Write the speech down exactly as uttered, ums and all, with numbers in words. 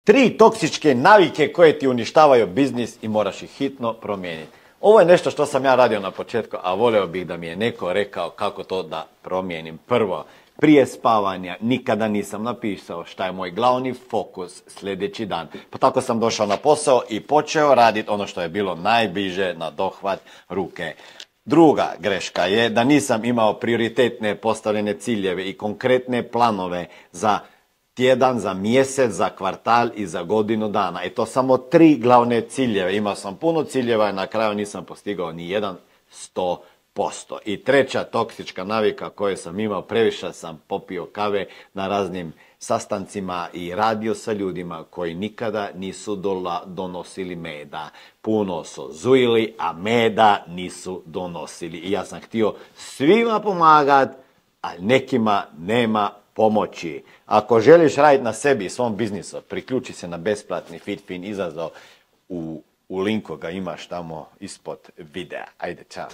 Tri toksičke navike koje ti uništavaju biznis i moraš ih hitno promijeniti. Ovo je nešto što sam ja radio na početku, a volio bih da mi je neko rekao kako to da promijenim. Prvo, prije spavanja nikada nisam napisao šta je moj glavni fokus sljedeći dan. Pa tako sam došao na posao i počeo raditi ono što je bilo najbliže na dohvat ruke. Druga greška je da nisam imao prioritetne postavljene ciljeve i konkretne planove za tjedan, za mjesec, za kvartal i za godinu dana. I to samo tri glavne ciljeve. Imao sam puno ciljeva i na kraju nisam postigao ni jedan sto posto. I treća toksička navika koju sam imao, previše sam popio kave na raznim sastancima i radio sa ljudima koji nikada nisu dola, donosili meda. Puno su zujili, a meda nisu donosili. I ja sam htio svima pomagati, a nekima nema pomoći. Ako želiš raditi na sebi i svom biznisu, priključi se na besplatni FitFin izazov. U, u linku ga imaš tamo ispod videa. Ajde, čao.